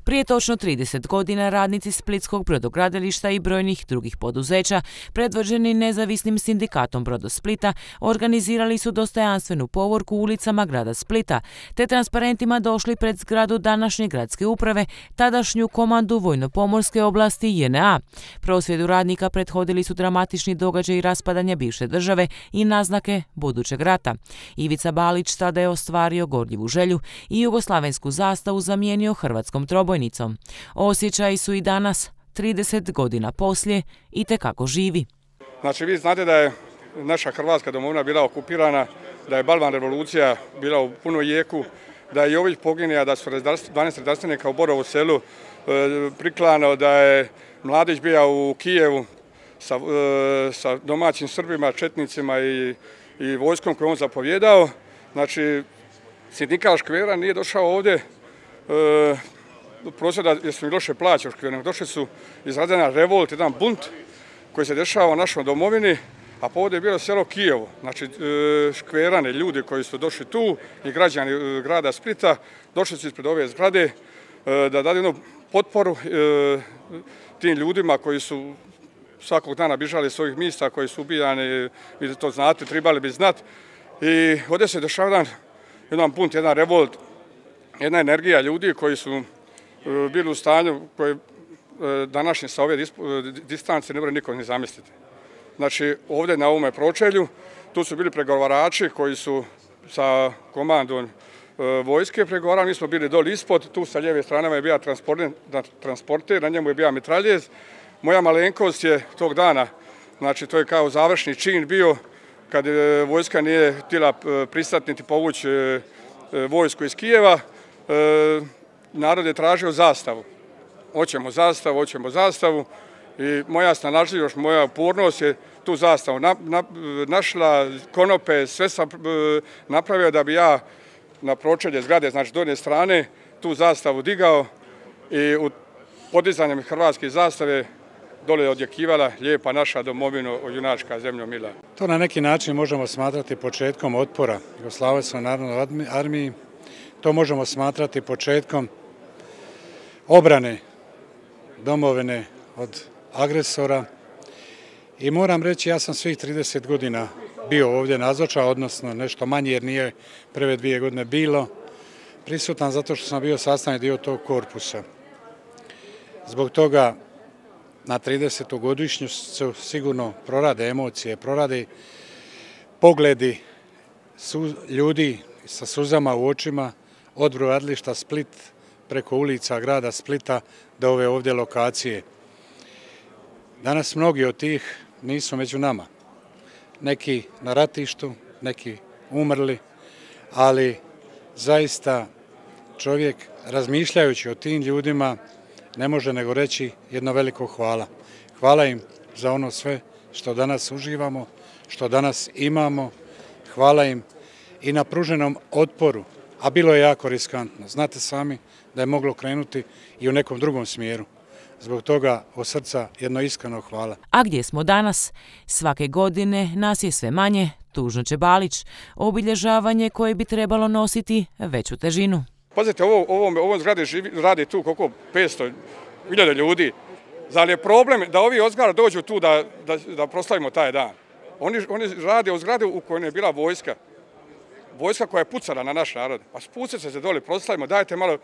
Prije točno 30 godina radnici Splitskog brodogradilišta i brojnih drugih poduzeća, predvođeni nezavisnim sindikatom Brodosplita, organizirali su dostojanstvenu povorku ulicama grada Splita, te transparentima došli pred zgradu današnje gradske uprave, tadašnju komandu Vojno-pomorske oblasti JNA. Prosvjedu radnika prethodili su dramatični događaji raspadanja bivše države i naznake budućeg rata. Ivica Balić tada je ostvario gorljivu želju i jugoslavensku zastavu zamijenio hrvatskom trobojnicom. Osjećaji su i danas, 30 godina poslije, itekako živi. Znači, vi znate da je naša Hrvatska domovina bila okupirana, da je Balvan revolucija bila u punoj jeku, da je Jović poginio, da su 12 redarstvenika u Borovu selu priklano, da je Mladić bio u Kijevu sa domaćim Srbima, četnicima i vojskom koju on zapovjedao. Znači, sindikal Škvera nije došao ovdje prosvjeda jer su im loše plaće u Škveru. Došli su izrađena revolt, jedan bunt koji se dešava u našoj domovini, a povod je bilo selo Kijevo. Znači, Škverani, ljudi koji su došli tu i građani grada Splita, došli su ispred ove zgrade da dadu jednu potporu tim ljudima koji su svakog dana bježali iz svojih mjesta, koji su ubijani, vi to znate, trebali bi znati. I ovdje se dešava jedan bunt, jedan revolt, jedna energija ljudi koji su bili u stanju koje današnje sa ove distance ne može niko ni zamisliti. Znači, ovdje na ovome pročelju, tu su bili pregovarači koji su sa komandom vojske pregovarali, mi smo bili doli ispod, tu sa lijeve strane je bio transporter, na njemu je bio mitraljez. Moja malenkost je tog dana, znači to je kao završni čin bio, kad vojska nije htjela pristati niti povući vojsku iz Kijeva, narod je tražio zastavu. Hoćemo zastavu i moja snalažljivost, moja upornost je tu zastavu našla, konope, sve sam napravio da bi ja na pročelje zgrade, znači donje strane, tu zastavu digao i u podizanjem hrvatske zastave dole je odjekivala lijepa naša domovina, junačka zemljo mila. To na neki način možemo smatrati početkom otpora Jugoslavenskoj narodnoj armiji. To možemo smatrati početkom obrane domovine od agresora. I moram reći, ja sam svih 30 godina bio ovdje nazočan, odnosno nešto manje jer nije prve 2 godine bilo prisutan zato što sam bio sastavni dio tog korpusa. Zbog toga na 30. godišnju se sigurno prorade emocije, prorade pogledi ljudi sa suzama u očima od brodogradilišta Split preko ulica grada Splita do ove ovdje lokacije. Danas mnogi od tih nisu među nama. Neki na ratištu, neki umrli, ali zaista čovjek razmišljajući o tim ljudima ne može nego reći jedno veliko hvala. Hvala im za ono sve što danas uživamo, što danas imamo. Hvala im i na pruženom otporu, a bilo je jako riskantno. Znate sami da je moglo krenuti i u nekom drugom smjeru. Zbog toga od srca jedno iskreno hvala. A gdje smo danas? Svake godine nas je sve manje, tužno će Balić, obilježavanje koje bi trebalo nositi veću težinu. Pazite, ovo zgrade radi tu koliko 500.000 ljudi. Zar je problem da ovi od zgrada dođu tu da proslavimo taj dan? Oni rade u zgrade u kojoj je bila vojska. Vojska koja je pucala na naš narod. Pa spucite se dole, proslavimo, dajte malo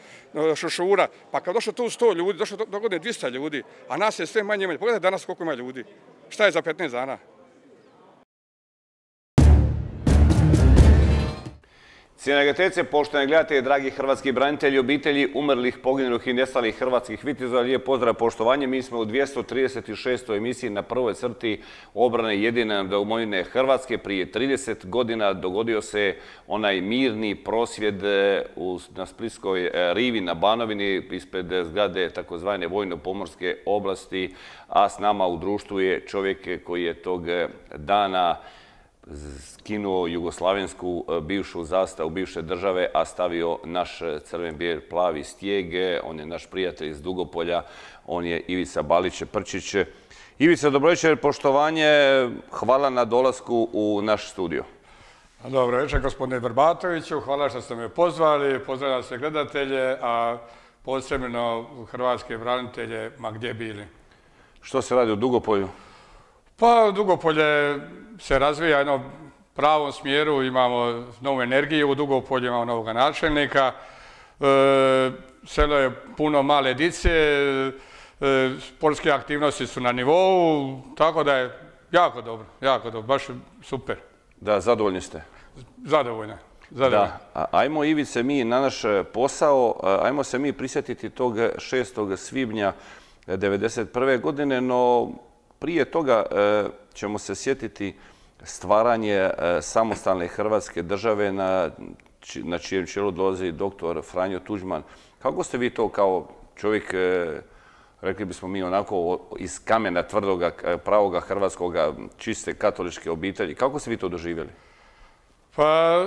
šušura. Pa kad došlo tu 100 ljudi, došlo do godine 200 ljudi, a nas je sve manje. Pogledajte danas koliko ima ljudi. Šta je za 15 dana? Cijenjene gledateljice, poštovani gledatelji, dragi hrvatski branitelji, obitelji umrlih, poginulih i nestalih hrvatskih vitezova, lijep pozdrav, poštovanje. Mi smo u 236. emisiji na prvoj crti obrane jedine domovine Hrvatske. Prije 30 godina dogodio se onaj mirni prosvjed na Splitskoj rivi na Banovini ispred zgrade takozvane Vojno-pomorske oblasti, a s nama u društvu je čovjek koji je tog dana skinuo jugoslavensku bivšu zastavu bivše države, a stavio naš crven, bijel, plavi stijeg. On je naš prijatelj iz Dugopolja, on je Ivica Balić Prčić. Ivica, dobro večer, poštovanje, hvala na dolasku u naš studio. Dobro večer, gospodine Vrbatoviću, hvala što ste me pozvali, pozdravljam sve gledatelje, a posebno hrvatske branitelje, ma gdje bili. Što se radi u Dugopolju? Pa Dugopolje se razvija jednom pravom smjeru, imamo novu energiju u Dugopolju, imamo novog načelnika, selo je puno male dice, sportske aktivnosti su na nivou, tako da je jako dobro, baš super. Da, zadovoljni ste? Zadovoljni. Da, ajmo Ivice mi na naš posao, ajmo se mi prisjetiti tog 6. svibnja 1991. godine, no prije toga ćemo se sjetiti stvaranje samostalne Hrvatske države na čijem čelu dolazi dr. Franjo Tuđman. Kako ste vi to kao čovjek, rekli bismo mi onako iz kamena tvrdoga, pravoga hrvatskoga, čiste katoličke obitelji, kako ste vi to doživjeli? Pa,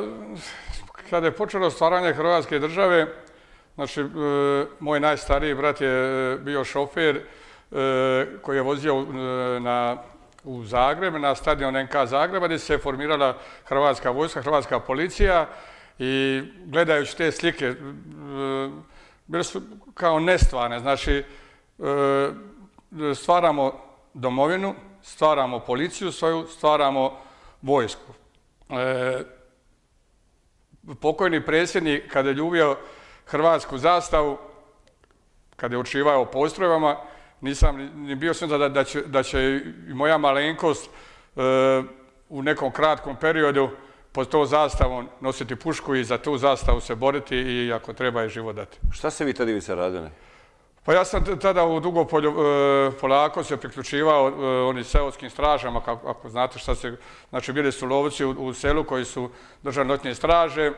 kada je počelo stvaranje Hrvatske države, znači, moj najstariji brat je bio šofer koji je vozio u Zagreb, na stadion NK Zagreba, gdje se formirala Hrvatska vojska, Hrvatska policija i gledajući te slike, bile su kao nestvarne. Znači, stvaramo domovinu, stvaramo policiju svoju, stvaramo vojsku. Pokojni predsjednik, kada je ljubio hrvatsku zastavu, kada je učivao o postrojbama, nisam ni bio siguran da će i moja malenkost u nekom kratkom periodu pod to zastavom nositi pušku i za tu zastavu se boriti i ako treba je život dati. Šta ste vi tada Ivice radili? Pa ja sam tada u Dugopolju polako se priključivao onim seoskim stražama, ako znate šta se... Znači, bili su lovci u selu koji su držali noćne straže,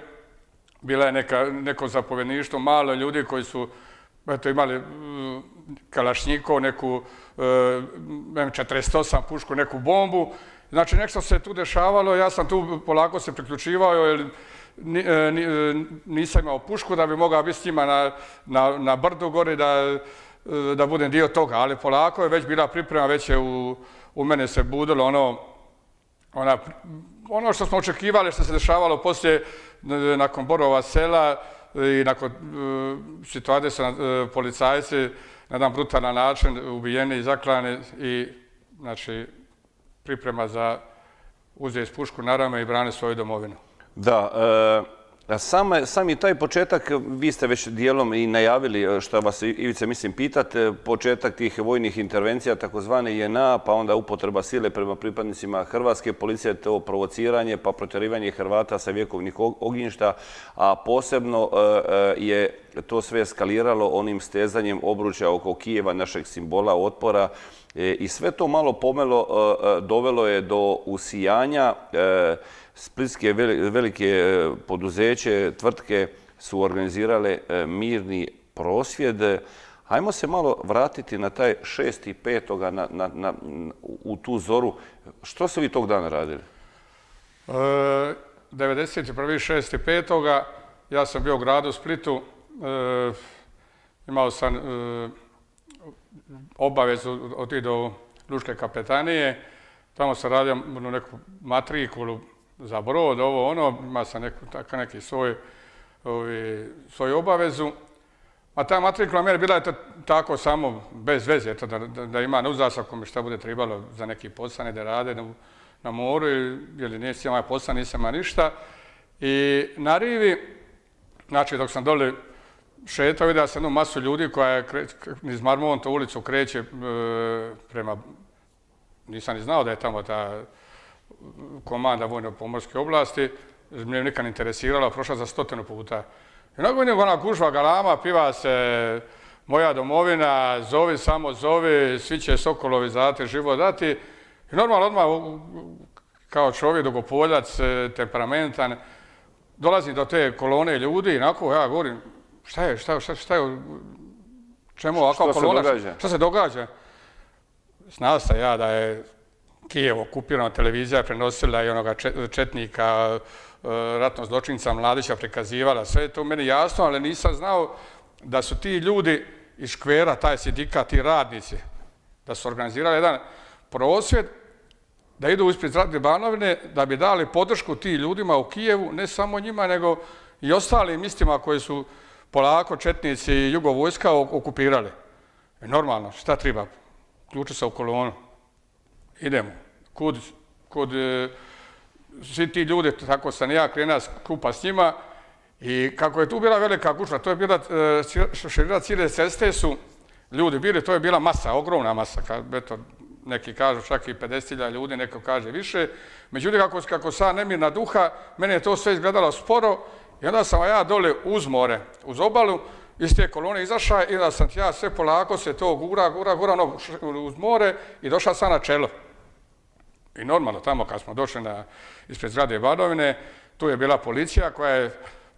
bila je neko zapovjedništvo, malo ljudi koji su imali kalašnjikov, neku M48 pušku, neku bombu. Znači, nešto se tu dešavalo, ja sam tu polako se priključivao, jer nisam imao pušku da bi mogao biti s njima na brdu gori da budem dio toga, ali polako je već bila priprema, već je u mene se budilo ono što smo očekivali, što se dešavalo poslije, nakon Borova sela i nakon situacije su policajci na jedan brutalan način ubijeni i zaklani i znači priprema za uzeti pušku na rame i brani svoju domovinu. Da, sami taj početak, vi ste već dijelom i najavili, što vas Ivice mislim pitati, početak tih vojnih intervencija, takozvane JNA, pa onda upotreba sile prema pripadnicima Hrvatske policije, to provociranje, pa protjerivanje Hrvata sa vjekovnih ognjišta, a posebno je to sve eskaliralo onim stezanjem obručja oko Kijeva, našeg simbola otpora, i sve to malo pomelo dovelo je do usijanja. Splitske velike poduzeće, tvrtke su organizirale mirni prosvjed. Hajmo se malo vratiti na taj 6.5. u tu zoru. Što ste vi tog dana radili? 91.6.5. ja sam bio u gradu Splitu. Imao sam obavezu otići do Lučke kapetanije. Tamo sam radio neku matrikulu za brod, ima sam neki svoju obavezu. A ta matrikula mjera bila je tako samo bez veze, da ima uzas ako mi šta bude trebalo za neki posao, da rade na moru, jer nisam imao posao, nisam imao ništa. I na rivi, znači dok sam dole šetao, vidio sam jednu masu ljudi koja je iz Marmonta ulicu kreće prema... Nisam ni znao da je tamo ta komanda vojno-pomorske oblasti, me nikad ne interesirala, prošla za 100 puta. I nakon vidim ona gužva galama, piva se moja domovina, zovi, samo zovi, svi će sokolovi za te život dati. I normalno odmah, kao čovjek, dugopoljac, temperamentan, dolazim do te kolone ljudi i onako ja govorim, šta je, čemu ovakva kolona, šta se događa? Znao sam ja da je Kijev okupirana, televizija prenosila i onoga četnika, ratnog zločinca Mladića prikazivala. Sve je to meni jasno, ali nisam znao da su ti ljudi iz škvera, taj sindikat, ti radnici, da su organizirali jedan prosvjed, da idu ispred Zlatne Banovine, da bi dali podršku tim ljudima u Kijevu, ne samo njima, nego i ostalim istima koji su polako četnici i jugovojska okupirali. Normalno, šta treba? Ključi se u kolonu. Idemo. Kud svi ti ljudi, tako sam ja krenuo skupa s njima, i kako je tu bila velika gužva, to je bila širina cijele ceste su ljudi bili, to je bila masa, ogromna masa, neki kažu čak i 50.000 ljudi, neko kaže više. Međutim, kako sam nemirna duha, meni je to sve izgledalo sporo i onda sam ja dole uz more, uz obalu, iz te kolone izašao i onda sam ja sve polako se to gura uz more i došao sam na čelo. I normalno, tamo kad smo došli ispred zgrade Banovine, tu je bila policija koja je,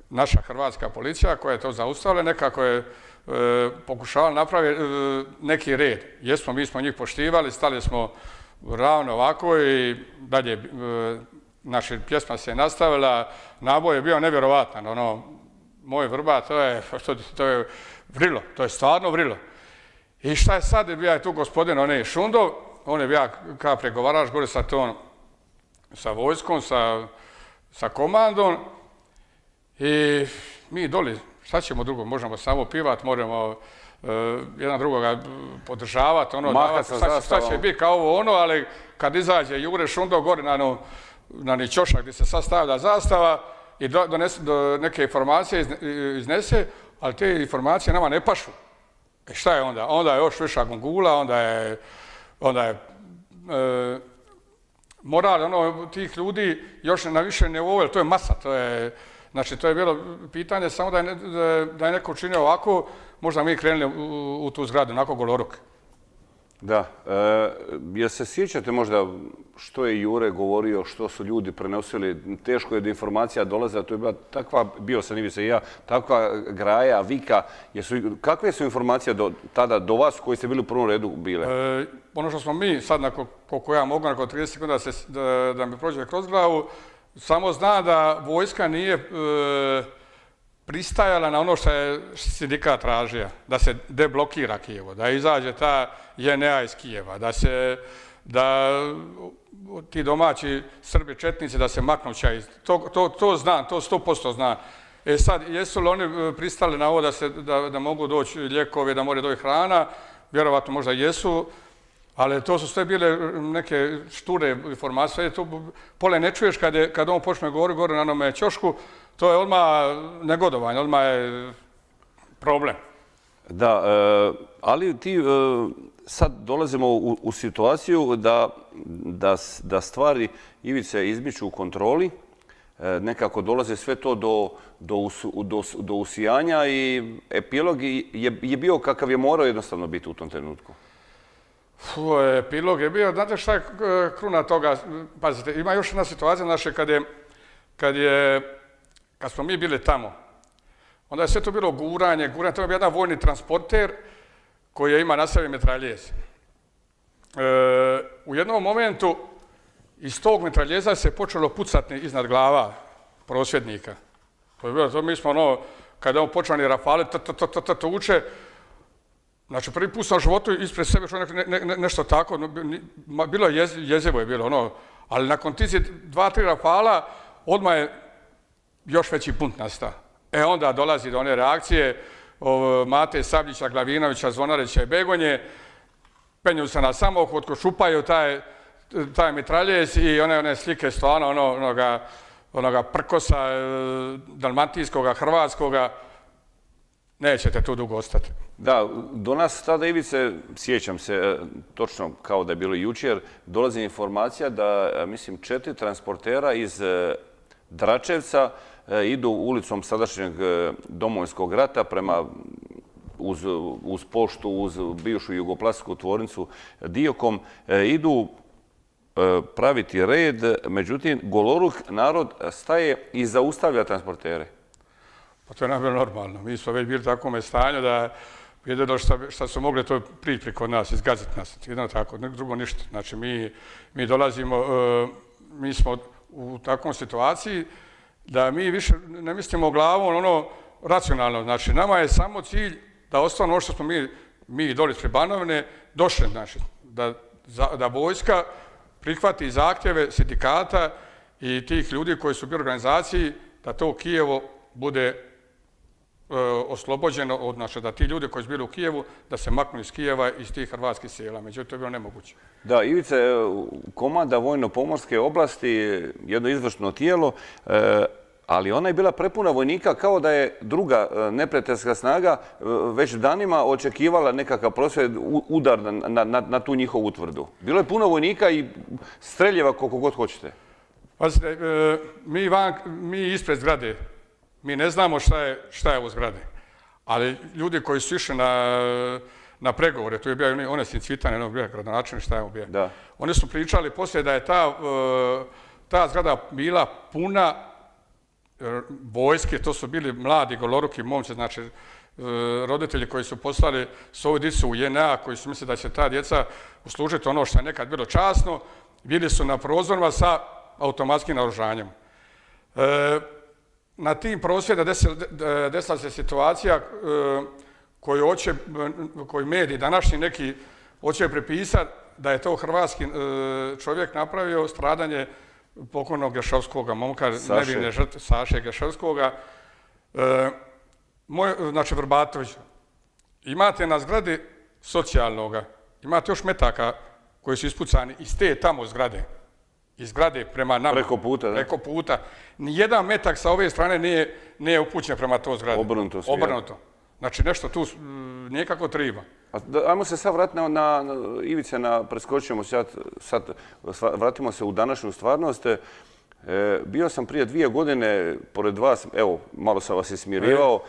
naša hrvatska policija koja je to zaustavila, nekako je pokušavali napraviti neki red. Jesmo, mi smo njih poštivali, stali smo ravno ovako i dalje naša pjesma se nastavila, naboj je bio nevjerovatan, moj vrba, to je vrilo, to je stvarno vrilo. I šta je sad, bio je tu gospodin Šundov, on je bio kao pregovarač gore sa vojskom, sa komandom i mi doli, šta ćemo drugo, možemo samo pivat, možemo jedan drugoga podržavati, šta će biti kao ovo ali kad izađe Jure Šundov gore na ni ćošak gdje se sastavlja zastava i do neke informacije iznese, ali te informacije nama ne pašu. Šta je onda? Onda je još viša gungula, onda je moral tih ljudi još na više nivou, to je masa, znači to je bilo pitanje samo da je neko učinio ovako, možda mi krenuli u tu zgradu, onako goloruk. Da, jel se sjećate možda što je Jure govorio, što su ljudi prenosili, teško je da informacija dolaze, a to je bila takva, bio sam Ivica i ja, takva graja, vika, kakve su informacije tada do vas koji ste bili u prvom redu bile? Ono što smo mi sad, koliko ja mogu, nakon 30 sekunda da mi prođe kroz glavu, samo zna da vojska nije pristajala na ono što je sindikat tražio, da se deblokira Kijevo, da izađe ta JNA iz Kijeva, da ti domaći Srbi četnici da se maknu čaj. To znam, to 100% znam. Sad, jesu li oni pristali na ovo da mogu doći lijekovi, da mora doći hrana? Vjerovatno možda jesu, ali to su sve bile neke šture informacije. Pole ne čuješ kad on počne govoriti gore na onome ćošku, to je odmah negodovanje, odmah je problem. Da, ali ti sad dolazimo u situaciju da stvari Ivice izmiču u kontroli, nekako dolaze sve to do usijanja i epilog je bio kakav je morao jednostavno biti u tom trenutku. Epilog je bio, znate šta je kruna toga, pazite, ima još jedna situacija, znači kad smo mi bili tamo, onda je sve to bilo guranje, to je bio jedan vojni transporter koji ima na sebi mitraljez. U jednom momentu iz tog mitraljeza se počelo pucati iznad glava prosvjednika. To je bilo, mi smo kada on počeo ni rafale, uče, znači prvi put sam u životu ispred sebe nešto tako, bilo je jezivo je bilo, ali nakon tizi 2-3 rafala odmah je još veći punt nastao. Onda dolazi do one reakcije Mate Sabljića, Glavinovića, Zvonarića i Begonje, penju se na samohod, šupaju taj mitraljez i one slike stvarno onoga prkosa dalmatijskoga, hrvatskoga, nećete tu dugo ostati. Da, do nas tada, Ivice, sjećam se, točno kao da je bilo jučer, dolazi informacija da, mislim, 4 transportera iz Dračevca idu ulicom sadašnjeg Domovinskog rata prema uz poštu, uz bivšu jugoplastičku tvornicu Diokom, idu praviti red, međutim, goloruk narod staje i zaustavlja transportere. Pa to je najbolje normalno. Mi smo već bili u takvom stanju da jedino što su mogli to prići preko nas, izgaziti nas. Jedno tako, drugo ništa. Znači, mi dolazimo, mi smo u takvom situaciji da mi više ne mislimo glavom racionalno. Znači, nama je samo cilj da ostane ono što smo mi doli ispred Banovine došli, znači, da vojska prihvati zahtjeve sindikata i tih ljudi koji su bili u organizaciji, da to Kijevo bude oslobođeno, znači da ti ljudi koji su bili u Kijevu, da se maknu iz Kijeva, iz tih hrvatskih sela. Međutim, to je bilo nemoguće. Da, Ivice, komanda vojno-pomorske oblasti, jedno izvršno tijelo, ali ona je bila prepuna vojnika kao da je druga neprijateljska snaga već danima očekivala nekakav prosvjed, udar na tu njihovu utvrdu. Bilo je puno vojnika i streljeva koliko god hoćete. Pazite, mi ispred zgrade, mi ne znamo šta je u zgradi, ali ljudi koji su išli na pregovore, tu je bio Onesin Cvitan, bio gradonačelnik, šta je bio. Oni su pričali poslije da je ta zgrada bila puna vojske, to su bili mladi, goloruki momci, znači roditelji koji su poslali svoju djecu u JNA, koji su mislili da će ta djeca uslužiti ono što je nekad bilo časno, bili su na prozorima sa automatskim naoružanjem. Na tim prosvjeda desila se situacija koju mediji današnji neki hoće pripisati da je to hrvatski čovjek napravio, stradanje pokojnog Gešovskoga, momka nevine žrtve Saše Gešovskoga. Znači Vrbatović, imate na zgradi socijalnoga, imate još metaka koji su ispucani iz te tamo zgrade. Iz zgrade prema nama. Preko puta, da? Preko puta. Nijedan metak sa ove strane nije upućen prema toj zgradi. Obrnuto sve. Obrnuto. Znači nešto tu nikako triba. Ajmo se sad vratiti na Ivice, preskočimo sad, vratimo se u današnju stvarnost. Bio sam prije 2 godine pored vas, evo, malo sam vas ismirivao,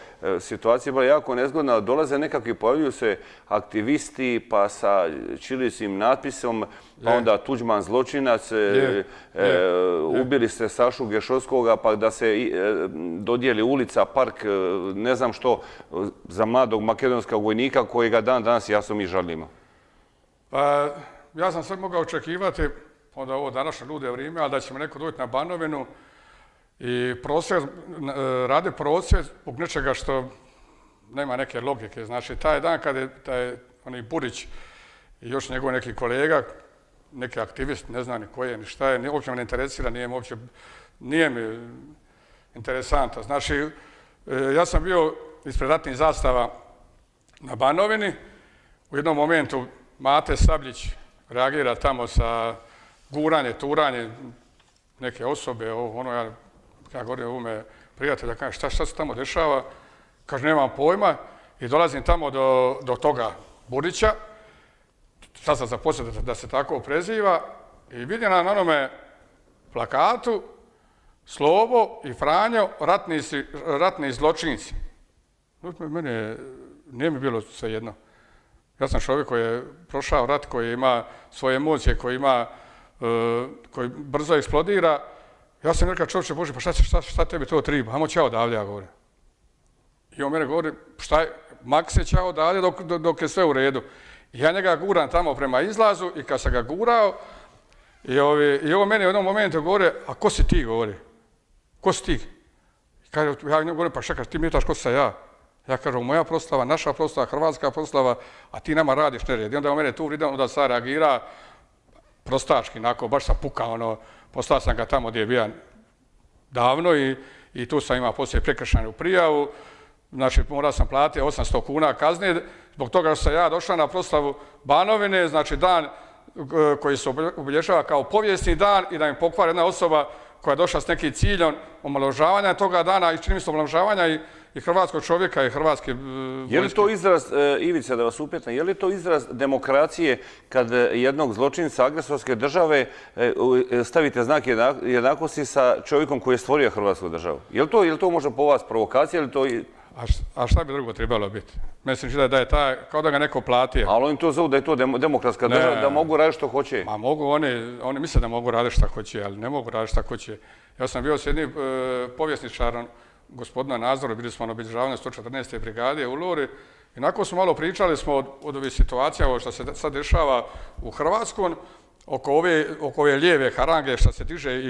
situacija je bila jako nezgodna, dolaze nekakvi, pojavljuju se aktivisti, pa sa ćirilicim natpisom, pa onda Tuđman zločinac, ubili ste Sašu Gešovskoga, pa da se dodijeli ulica, park, ne znam što, za mladog makedonskog vojnika kojega dan danas jasno mi žalimo. Pa, ja sam sad mogao očekivati onda ovo današnje lude vrijeme, ali da ćemo neko doći na Banovinu i rade prosvjed zbog nečega što nema neke logike. Znači, taj dan kada je onaj Burić i još njegov neki kolega, neki aktivist, ne znam ni ko je, ni šta je, uopće me ne interesira, nije mi interesanta. Znači, ja sam bio ispred ratnih zastava na Banovini, u jednom momentu Mate Sabljić reagira tamo sa guranje, turanje neke osobe, ja govorim ovome prijatelja, kažem šta se tamo dešava, kaže nemam pojma i dolazim tamo do toga Burića, sad sam zaposlio da se tako preziva i vidim na onome plakatu Slobo i Franjo, ratni zločinci. Mene nije mi bilo svejedno. Ja sam čovjek koji je prošao rat, koji ima svoje emocije, koji brzo eksplodira. Ja sam rekao, čovječe Bože, pa šta tebi to triba? Hajmo ćao odavlje, ja govorim. I on mene govori, šta je, mak se ćao odavlje dok je sve u redu. I ja njega guram tamo prema izlazu i kad sam ga gurao, i ovo meni u jednom momentu govori, a ko si ti, govori? Ko si ti? Ja njemu govorim, pa šta, ti mi jetaš ko sam ja? Ja kažem, moja proslava, naša proslava, hrvatska proslava, a ti nama radiš nered. I onda on mene tu vidio, onda sad reagira prostački, onako, baš sam pukao, poslao sam ga tamo gdje je bio davno i tu sam imao poslije prekršajnu prijavu. Znači, morao sam platiti 800 kuna kazne, zbog toga što sam ja došao na proslavu Banovine, znači dan koji se obilježava kao povijesni dan i da im pokvari jedna osoba koja je došla s nekim ciljom omalovažavanja toga dana i čini mi se omalovažavanja i hrvatskog čovjeka i hrvatske vojske. Je li to izraz, Ivica, da vas upitam, je li to izraz demokracije kad jednog zločinca agresorske države stavite znak jednakosti sa čovjekom koji je stvorio Hrvatsku državu? Je li to možda po vas provokacija ili to... A šta bi drugo trebalo biti? Mislim da je taj, kao da ga neko platio. Ali oni to zovu da je to demokratska država, da mogu raditi što hoće. Ma mogu, oni misle da mogu raditi što hoće, ali ne mogu raditi što hoće. Ja sam bio s jednim povjesničarom gospodina Nazoru, bili smo na obilježavanju 114. brigade u Lori i nakon smo malo pričali smo od ovih situacija što se sad dešava u Hrvatskoj, oko ove lijeve harange što se diže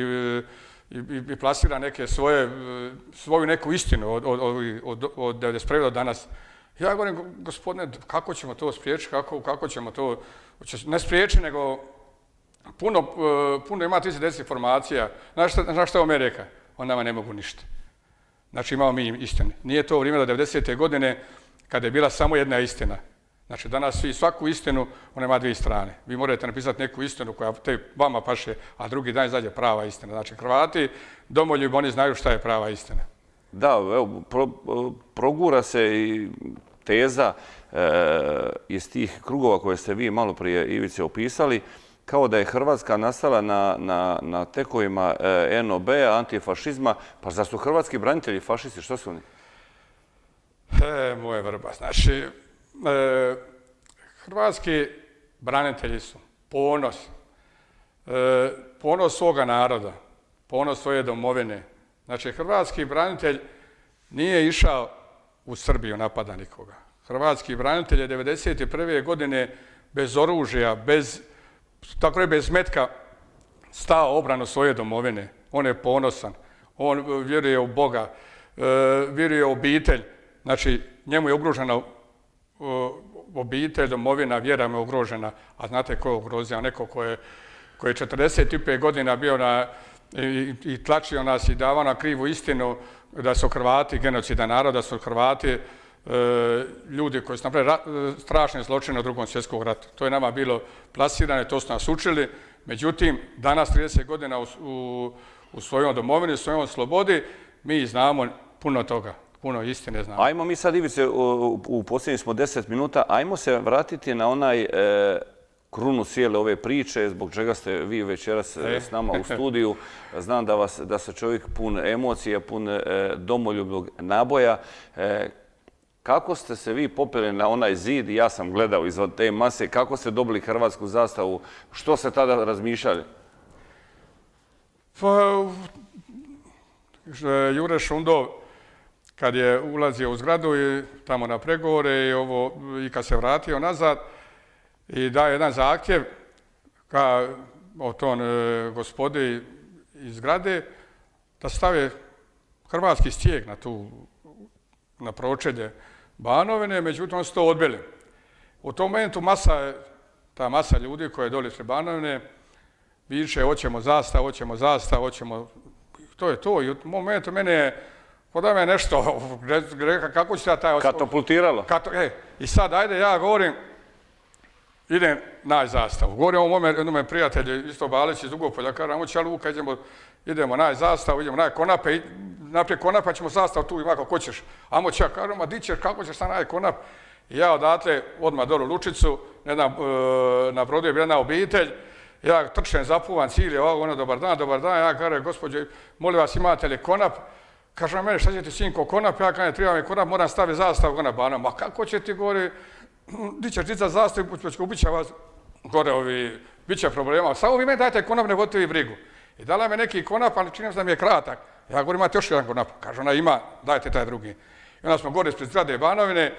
i plasira neke svoju neku istinu od 1991. do danas. Ja govorim, gospodine, kako ćemo to spriječiti, kako ćemo to, ne spriječiti, nego puno ima tizi dezinformacija. Znaš što je on me rekao? On nama ne mogu ništa. Znači imamo mi istinu. Nije to vrijeme do 90. godine kada je bila samo jedna istina. Znači danas svi svaku istinu, ona ima dvije strane. Vi morate napisati neku istinu koja te vama paše, a drugi dan izađe prava istina. Znači Hrvati, domoljubi, oni znaju šta je prava istina. Da, evo, progura se i teza iz tih krugova koje ste vi malo prije, Ivice, opisali, kao da je Hrvatska nastala na tekovima NOB-a, antifašizma. Pa zar su hrvatski branitelji fašisti? Što su oni? Moje vrba, znači, hrvatski branitelji su ponos, ponos svoga naroda, ponos svoje domovine. Znači, hrvatski branitelj nije išao u Srbiju napada nikoga. Hrvatski branitelj je 1991. godine bez oružja, bez metka stao obranu svoje domovine. On je ponosan, on vjeruje u Boga, vjeruje u obitelj. Znači, njemu je ugrožena obitelj, domovina, vjera mu je ugrožena. A znate ko je ugrozio? Neko ko je 45 godina bio i tlačio nas i davao na krivu istinu da su Hrvati genocidan narod, da su Hrvati ljudi koji su napravili strašne zločine u Drugom svjetskom ratu. To je nama bilo plasirano, to su nas učili. Međutim, danas 30 godina u svojoj domovini, u svojoj slobodi, mi znamo puno toga. Puno istine znamo. Ajmo mi sad, Ivice, u posljednjih smo 10 minuta, ajmo se vratiti na onaj krunu cijele ove priče, zbog čega ste vi večeras s nama u studiju. Znam da se čovjek pun emocija, pun domoljubnog naboja. Kako ste se vi popeli na onaj zid, ja sam gledao iz te mase, kako ste dobili hrvatsku zastavu, što ste tada razmišljali? Pa, Jure Šundov, kad je ulazio u zgradu i tamo na pregovore i kad se vratio nazad i daje jedan zahtjev o tom gospodi iz zgrade da stave hrvatski stijeg na pročelje Banovine, međutim oni su to odbili. U tom momentu ta masa ljudi koja je doli ispred Banovine viče hoćemo zastavu, to je to. I u momentu mene je da me nešto, kako će taj... Katapultiralo. I sad, ajde, ja govorim, idem naći zastavu. Govorim o mome prijatelju, isto Balić iz Dugopolja, kažem, ajmo Čaluka, idemo naći zastavu, idemo naći konape, naprijed konapa ćemo zastavu tu i ovako, ko ćeš? Ajmo Čak, kažem, a di ćeš, kako ćeš sad naći konap? I ja odatle, odmah dolu Lučicu, na brodu je bila jedna obitelj, ja trčem, zapuvan, cijeli, ono, dobar dan, ja kažem, gospođe, molim vas, imate li konap? Kaže na mene, šta će ti sinko konap? Ja kažem, treba mi konap, moram staviti zastavu gore na Banovinu. Ma kako će ti gore, di ćeš dicat zastavu, ubit će vas gore bit će problema. Samo vi meni dajte konap, ne vodite vi brigu. I dala me neki konap, ali čini se da mi je kratak. Ja govorim, imate još jedan konap. Kaže ona, ima, dajte taj drugi. I onda smo gore ispred zgrade Banovine,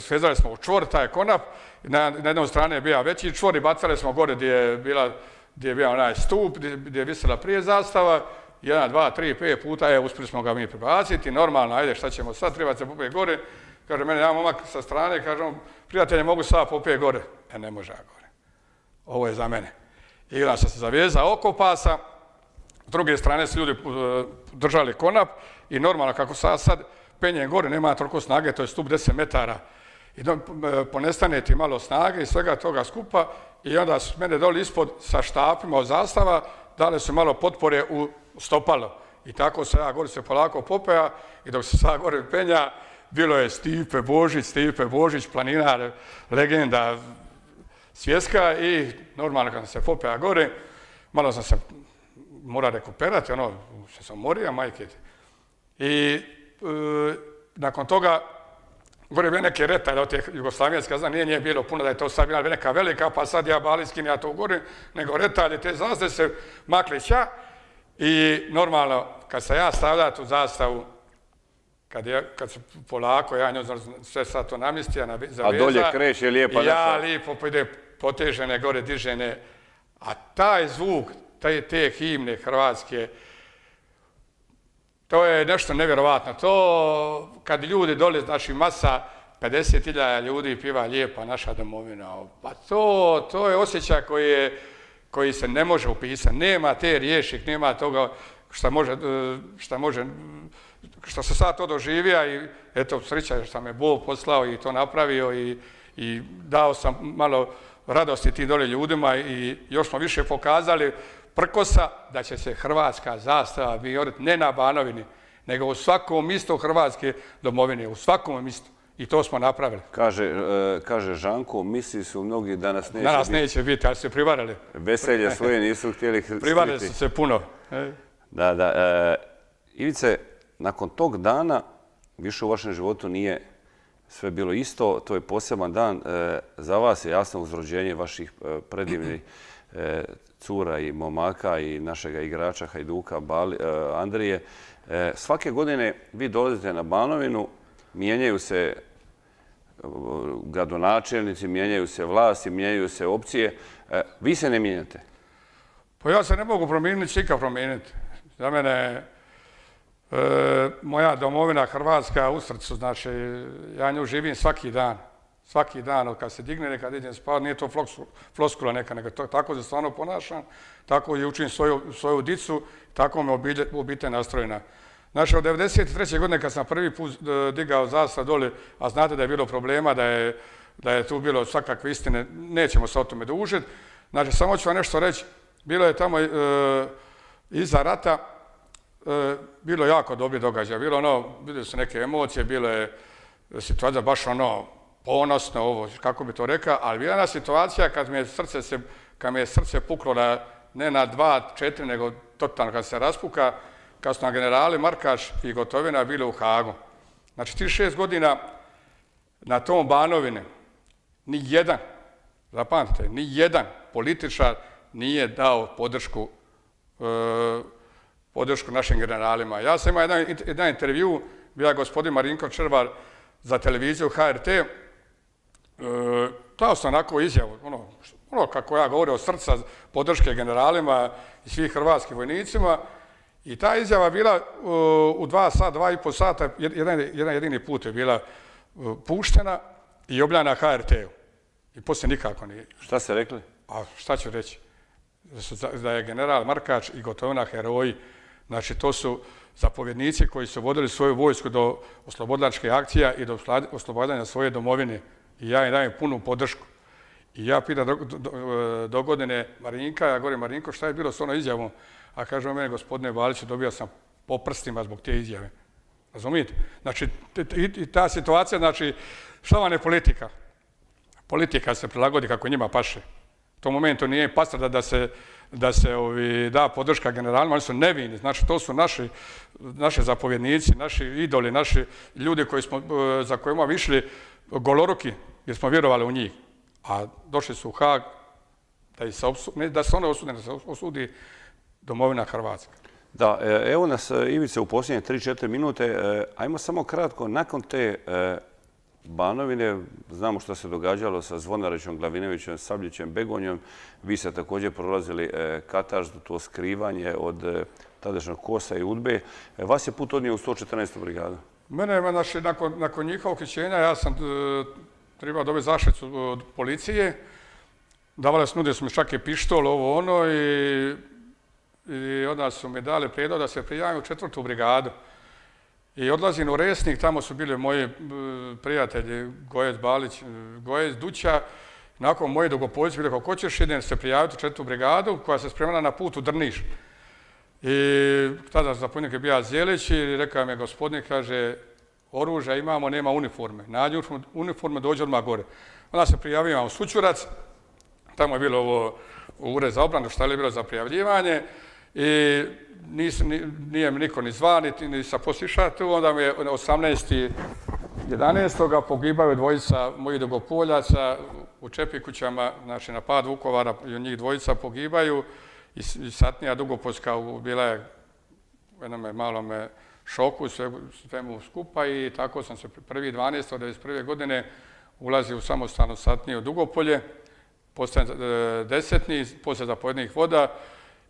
svezali smo u čvor, taj konap. Na jednom strane je bio veći čvor i bacali smo gore gdje je bio onaj stup, gdje je visela prije zastava. 1, 2, 3, 5 puta, uspjeli smo ga mi prebaciti, normalno, ajde, šta ćemo sad, treba se popet gore. Kaže, mene jedan momak sa strane, kaže, prijatelje, mogu sad popet gore. Ne može ja gore. Ovo je za mene. I onda sam se zavezao oko pasa, s druge strane su ljudi držali konap i normalno, kako sad penjem gore, nema toliko snage, to je stup 10 metara. I ponestane ti malo snage i svega toga skupa i onda su mene doli ispod sa štapima od zastava, dali su malo potpore u stopalo. I tako se ja gore se polako popea i dok se sad gore penja, bilo je Stipe Božić, planinar, legenda svjetska i normalno kad sam se popea gore, malo sam se morao rekuperati, se sam morio, majke. I nakon toga gore je bio neke retalje od te jugoslavijanske, znam, nije bilo puno da je to sad bila neka velika, pa sad ja Baliskin, ja to gore, nego retalje, te zastave se makli ća i normalno, kad sam ja stavljao tu zastavu, kad se polako, ja njoj sve sad to namistija, zaveza. A dolje kreće lijepa neka. Ja lijepo ide potežene, gore dižene, a taj zvuk, te himne hrvatske, to je nešto nevjerovatno. To, kad ljudi dole, znači masa, 50.000 ljudi piva lijepa naša domovina, pa to je osjećaj koji se ne može upisati. Nema te riješik, nema toga što se sad to doživija i eto, sreća što me Bog poslao i to napravio i dao sam malo radosti tim dole ljudima i još smo više pokazali prkosa da će se hrvatska zastava vijoriti ne na Banovini, nego u svakom mjestu Hrvatske domovine, u svakom mjestu. I to smo napravili. Kaže Žanko, misli su mnogi da nas neće biti. Danas neće biti, ali su se privarili. Veselje svoje nisu htjeli skriti. Privarili su se puno. Da. Ivice, nakon tog dana više u vašem životu nije sve bilo isto. To je poseban dan. Za vas je jasno uz rođenje vaših predivnih cura i momaka i našega igrača Hajduka Andrije. Svake godine vi dolazite na Banovinu, mijenjaju se gradonačelnici, mijenjaju se vlasti, mijenjaju se opcije. Vi se ne mijenjate? Pa ja se ne mogu promijeniti, čika promijeniti. Za mene moja domovina Hrvatska u srcu, znači ja nju živim svaki dan. Svaki dan, kad se digne, kad idem spavati, nije to floskula neka, nego tako se stvarno ponašam, tako i učim svoju dicu, tako me obitelj nastrojena. Znači, od 1993. godine kad sam prvi put digao zastav dole, a znate da je bilo problema, da je tu bilo svakakve istine, nećemo se o tome dužiti. Znači, samo ću vam nešto reći, bilo je tamo iza rata, bilo je jako dobri događaj, bilo su neke emocije, bilo je situacija baš ponosno, ovo, kako bi to rekao, ali bila je jedna situacija kad me je srce puklo ne na 2, 4, nego totalno kad se raspuka, kad su nam generali Markač i Gotovina bili u Hagu. Znači, 36 godina na tom Banovini zapamtite, ni jedan političar nije dao podršku našim generalima. Ja sam imao jedan intervju, bio je gospodin Marinko Červar za televiziju HRT, dao sam onako izjavu, kako ja govorim od srca podrške generalima i svih hrvatskim vojnicima. I ta izjava bila u 2,5 sata, jedan jedini put je bila puštena i objavljena na HRT-u. I poslije nikako nije. Šta ste rekli? A šta ću reći? Da je general Markač i Gotovina heroji. Znači, to su zapovjednici koji su vodili svoju vojsku do oslobodilačke akcija i do oslobađanja svoje domovine. I ja im dajem punu podršku. I ja pitam do godine Marinka, ja govorim Marinko, šta je bilo s onom izjavom? A kaže o mene, gospodine Baliću, dobio sam po prstima zbog te izjave. Razumijete? Znači, i ta situacija, znači, šta vam je politika? Politika se prilagodi kako njima paše. U tom momentu nije pastra da se da podrška generalima, oni su nevini. Znači, to su naši zapovjednici, naši idoli, naši ljudi za kojima bi išli goloruki, jer smo vjerovali u njih. A došli su u Hag da se one osude, da se osudi domovina Hrvatska. Da, evo nas, Ivice, u posljednje 3-4 minute. Ajmo samo kratko, nakon te Banovine, znamo što se događalo sa Zvonarićem, Glavinovićem, Sabljićem, Begonjom. Vi ste također prolazili katarzu, to skrivanje od tadašnjeg KOS-a i UDBE. Vas je put odnio u 114. brigadu. Mene, znači, nakon njihovog uhićenja, ja sam trebao dobiti zaštitu od policije. Nudili su mi čak i pištol, ovo ono, i onda su mi dali prijedlog da se prijavim u 4. brigadu. I odlazim u Resnik, tamo su bili moji prijatelji, Gojec Balić, Gojec Duća. Nakon moji Dugopoljci bili, kako ćeš, idem se prijaviti u 4. brigadu koja se spremala na put u Drniš. I tada zapovjednik je bio Zjelić i rekao mi je gospodin, kaže, oružja imamo, nema uniforme. Nađi uniforme, dođi odmah gore. Onda se prijavio u Sućurac, tamo je bilo ovo ured za obranu, šta je bilo za prijavljivanje. I nije mi niko ni zva, ni sa posliša tu. Onda mi je 18.11. pogibaju dvojica mojih Dugopoljaca u Čepikućama, znači na pad Vukovara, i njih dvojica pogibaju. I satnija Dugopoljska bila je u jednom malom šoku, svemu skupa, i tako sam se 1.12.1991. godine ulazio u samostalnu satniju Dugopolje, postajem desetni, poslije zapovjednih voda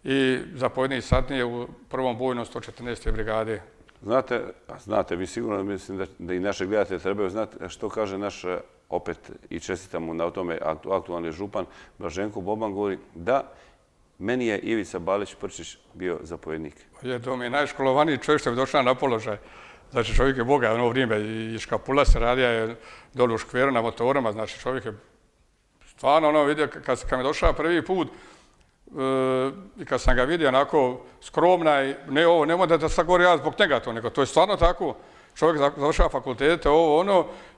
i zapovjednih satnije u prvom bojnom 114. brigade. Znate, vi sigurno mislim da i naše gledatelje trebaju znati što kaže naš, opet i čestitamo na tome, aktualni župan Blaženko Boban, govori da meni je Ivica Balić Prčić bio zapovjednik. To mi je najškolovaniji čovjek što je došao na položaj. Znači čovjek je Boga, ono vrijeme i škapula se radija je dolu u škveru na motorama, znači čovjek je stvarno ono vidio, kad mi je došao prvi put i kad sam ga vidio onako skromna i nemoj da sad govorim ja zbog njega to, nego to je stvarno tako. Čovjek završava fakultete,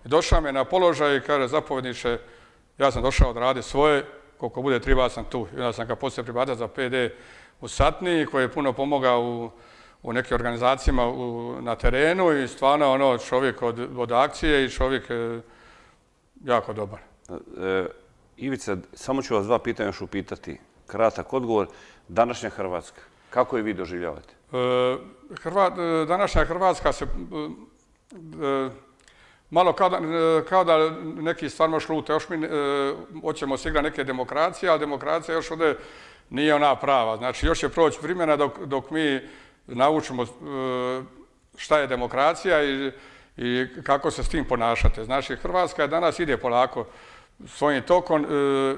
i došao me na položaj i kaže zapovjedniče, ja sam došao odraditi svoje, koliko bude treba sam tu. I onda sam ga poslije pribacio za PD u Satni, koji je puno pomogao u nekim organizacijama na terenu i stvarno čovjek od akcije i čovjek jako dobar. Ivica, samo ću vas dva pitanja još upitati. Kratak odgovor. Današnja Hrvatska, kako je vi doživljavate? Današnja Hrvatska se malo kao da neki stvarno šlute. Još mi hoćemo se igrati neke demokracije, ali demokracija još ovdje nije ona prava. Znači još će proći vremena dok mi naučimo šta je demokracija i kako se s tim ponašate. Znači Hrvatska danas ide polako svojim tokom.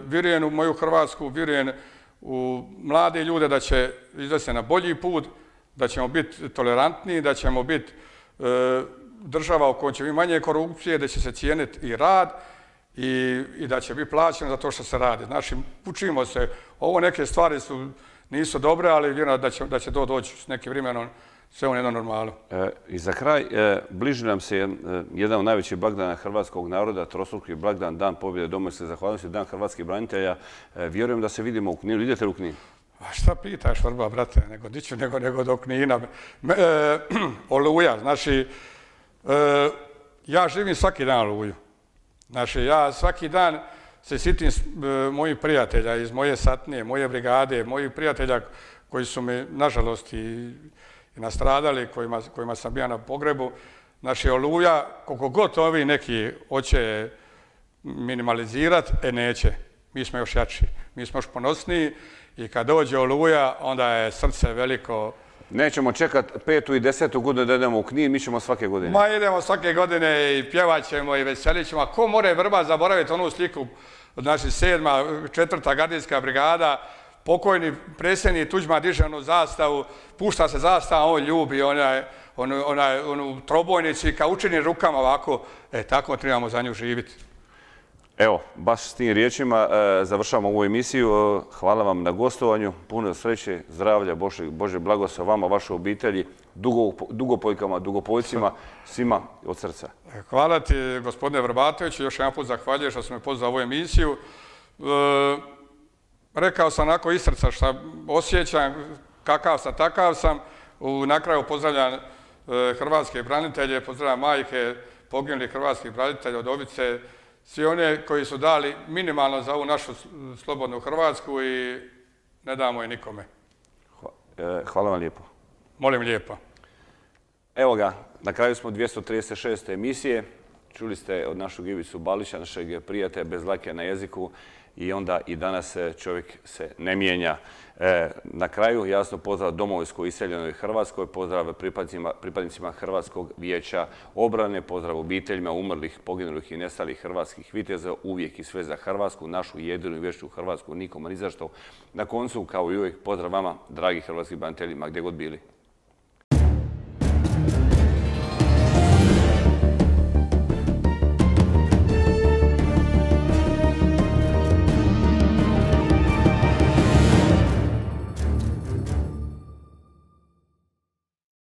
Vjerujem u moju Hrvatsku, vjerujem u mlade ljude da će izvesti na bolji put, da ćemo biti tolerantniji, da ćemo biti država u kojoj će biti manje korupcije, da će se cijeniti i rad i da će biti plaćeno za to što se radi. Znači, učimo se. Ovo neke stvari nisu dobre, ali vjerujem da će to doći s nekim vremenom sve u jedno normalno. I za kraj, bliži nam se jedan od najvećih blagdana hrvatskog naroda, trostruki blagdan, Dan pobjede, domovinske zahvalnosti, Dan hrvatskih branitelja. Vjerujem da se vidimo u Kninu. Idete li u Knin? A šta pitaš, Vrba, brate, nego do Knina. Oluja, znači, ja živim svaki dan Oluju. Znači, ja svaki dan se sjetim mojih prijatelja iz moje satnije, moje brigade, mojih prijatelja koji su mi, nažalost, i nastradali, kojima sam bio na pogrebu. Znači, Oluja, koliko god ovi neki hoće minimalizirati, neće. Mi smo još jači, mi smo još ponosniji i kad dođe Oluja, onda je srce veliko. Nećemo čekati 5. i 10. godinu da idemo u Knin, mi ćemo svake godine. Ma idemo svake godine i pjevat ćemo i veselit ćemo. Ko more Vrba zaboraviti onu sliku, znači 7. 4. gardijska brigada, pokojni predsjednik Tuđman diže onu zastavu, pušta se zastava, on ljubi onu trobojnicu i kao učini rukama ovako, tako trebamo za nju živjeti. Evo, baš s tim riječima završavamo ovu emisiju. Hvala vam na gostovanju, puno sreće, zdravlja, Bože blagoslov vama, vašoj obitelji, dugopojkama, dugopojcima, svima od srca. Hvala ti, gospodine Vrbatoviću, još jedan put zahvaljujem što sam me pozvao ovu emisiju. Rekao sam onako iz srca što osjećam, kakav sam, takav sam. Na kraju pozdravljam hrvatske branitelje, pozdravljam majke poginulih hrvatskih branitelja, udovice, svi one koji su dali minimalno za ovu našu slobodnu Hrvatsku i ne damo je nikome. Hvala vam lijepo. Molim lijepo. Evo ga, na kraju smo 236. emisije. Čuli ste od našeg Ivicu Balića, našeg prijatelja bez dlake na jeziku i onda i danas čovjek se ne mijenja. Na kraju jasno pozdrav domovinskoj iseljenoj Hrvatskoj, pozdrav pripadnicima Hrvatskog vijeća obrane, pozdrav obiteljima umrlih, poginulih i nestalih hrvatskih viteza, uvijek i sve za Hrvatsku, našu jedinu i vječnu Hrvatsku, nikoma ni zašto. Na koncu, kao i uvijek, pozdrav vama, dragi hrvatski braniteljima, gdje god bili.